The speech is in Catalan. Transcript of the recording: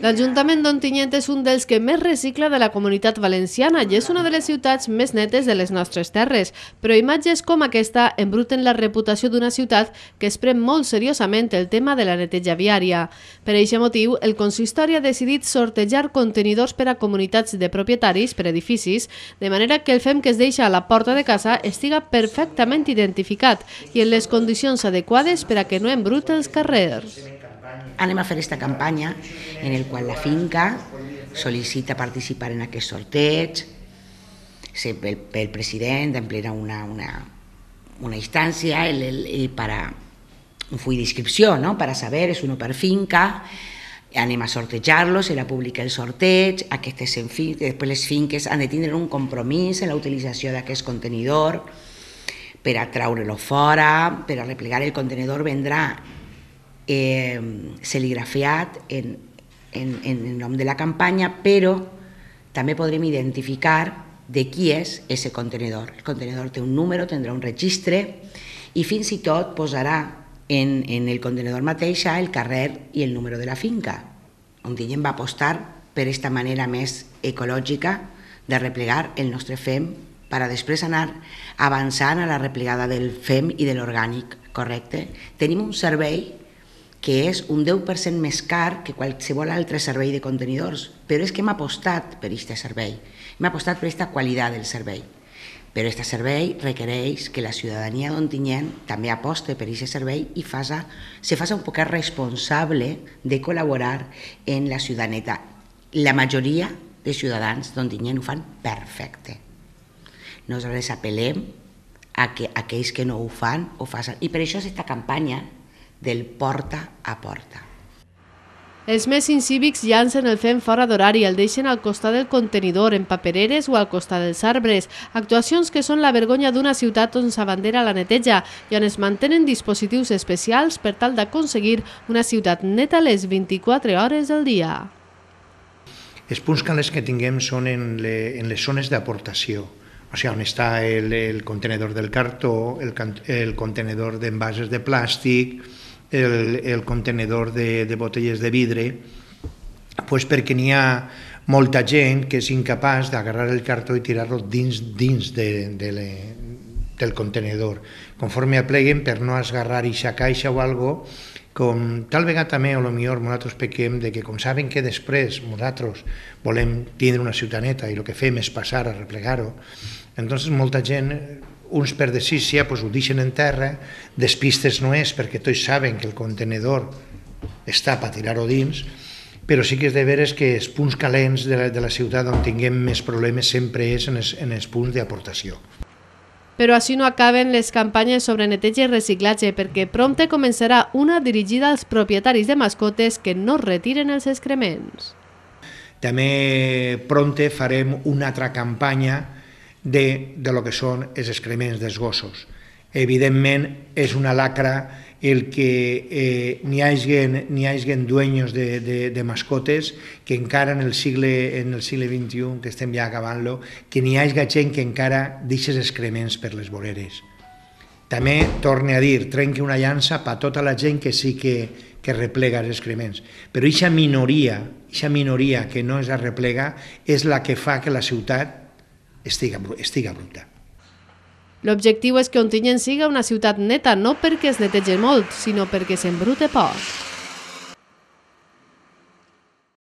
L'Ajuntament d'Ontinyent és un dels que més recicla de la Comunitat Valenciana i és una de les ciutats més netes de les nostres terres, però imatges com aquesta embruten la reputació d'una ciutat que es pren molt seriosament el tema de la neteja viària. Per aquest motiu, el consistori ha decidit sortejar contenidors per a comunitats de propietaris per edificis, de manera que el fem que es deixa a la porta de casa estiga perfectament identificat i en les condicions adequades per a que no embrute els carrers. Anem a fer aquesta campanya en el qual la finca sol·licita participar en aquest sorteig. El president emplena una instància para un full d'inscripció, ¿no? Para saber, és uno per finca, anem a sortejar-lo, serà públic el sorteig, després les finques han de tindre un compromís en la utilització d'aquest contenidor per a treure-lo fora, per a replegar el contenidor vendrà serigrafiat en nom de la campanya, però també podrem identificar de qui és aquest contenidor. El contenidor té un número, tindrà un registre i fins i tot posarà en el contenidor mateix el carrer i el número de la finca. Ontinyent va apostar per aquesta manera més ecològica de replegar el nostre fem per a després anar avançant a la replegada del fem i de l'orgànic, correcte? Tenim un servei que és un 10% més car que qualsevol altre servei de contenidors, però és que hem apostat per aquest servei, hem apostat per aquesta qualitat del servei. Però aquest servei requereix que la ciutadania d'Ontinyent també aposte per aquest servei i se faci un poc responsable de col·laborar en la ciutat neta. La majoria de ciutadans d'Ontinyent ho fan perfecte. Nosaltres apel·lem a que aquells que no ho fan, ho facin. I per això és aquesta campanya del porta a porta. Els més incívics llancen el fem fora d'horari i el deixen al costat del contenidor, en papereres o al costat dels arbres. Actuacions que són la vergonya d'una ciutat on s'abandera la neteja i on es mantenen dispositius especials per tal d'aconseguir una ciutat neta les 24 hores del dia. Els punts calents que tinguem són en les zones d'aportació, o sigui, on està el contenedor del cartó, el contenedor d'envases de plàstic, el contenedor de botelles de vidre, perquè n'hi ha molta gent que és incapaç d'agarrar el cartó i tirar-lo dins del contenedor. Conforme apleguen, per no esgarrar aquesta caixa o alguna cosa, com tal vegada també, o potser nosaltres pequem, que com saben que després nosaltres volem tindre una ciutat neta i el que fem és passar a replegar-ho, doncs molta gent, uns per decícia, ho deixen en terra, despistes no és, perquè tots saben que el contenedor està per tirar-ho dins, però sí que és de veres que els punts calents de la ciutat on tinguem més problemes sempre és en els punts d'aportació. Però així no acaben les campanyes sobre neteja i reciclatge, perquè prompte començarà una dirigida als propietaris de mascotes que no retiren els excrements. També prompte farem una altra campanya de lo que són els excrements dels gossos. Evidentment, és una lacra el que n'hi hagi dueños de mascotes que encara en el segle XXI, que estem ja acabant-lo, que n'hi hagi gent que encara deixa excrements per les voreres. També, torne a dir, trenqui una llança per tota la gent que sí que replega els excrements. Però aquesta minoria que no es replega és la que fa que la ciutat estiga bruta. L'objectiu és que Ontinyent siga una ciutat neta, no perquè es netegi molt, sinó perquè s'embrute poc.